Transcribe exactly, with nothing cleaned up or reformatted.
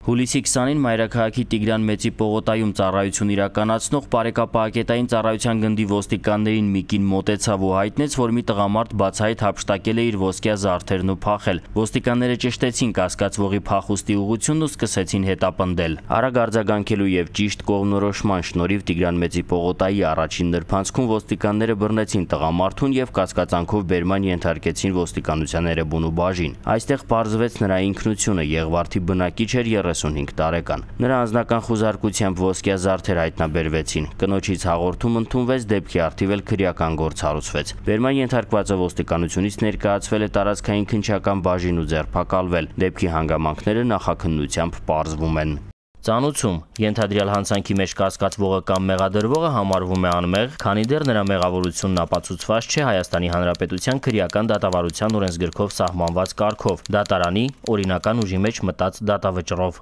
Հուլիսի քսանին մայրաքաղաքի Տիգրան Մեծի պողոտայում ծառայություն իրականացնող բարեկապահակետային ծառայության գնդի ոստիկաններին մի կին մոտեցավ ու հայտնեց, որ մի տղամարդ բացահայտ հափշտակել է իր ոսկյա զարդերն ու փախել։ Ոստիկանները ճշտեցին կասկածվողի փախուստի ուղղությունն ու սկսեցին հետապնդել։ Արագ արձագանքելու եւ ճիշտ կողմնորոշման շնորհիվ Տիգրան Մեծի պողոտայի առաջին նրբանցքում ոստիկանները բռնեցին տղամարդուն եւ կասկածանքով բերման ենթարկեցին ոստիկանության Էրեբունու բաժին։ Այստեղ պարզվեց նրա ինքնությունը, Եղվարդի բնակիչ էր երեսունհինգ տարեկան։ Նրա անձնական խուզարկությամբ ոսկյա զարդեր հայտնաբերվեցին։ Կնոջից հաղորդում ընդունվեց, դեպքի առթիվ էլ քրեական գործ հարուցվեց։ Բերման ենթարկվածը ոստիկանությունից ներկայացվել է տարածքային քննչական բաժին ու ձերբակալվել։ Դեպքի հանգամանքները նախաքննությամբ պարզվում են։ Ծանուցում ենթադրյալ հանցանքի մեջ կասկածվողը կամ մեղադրվողը համարվում է անմեղ, քանի դեռ նրա մեղավորությունն ապացուցված չէ Հայաստանի Հանրապետության քրեական դատավարության օրենսգրքով սահմանված կարգով՝ դատարանի օրինական ուժի մեջ մտած դատավճռով։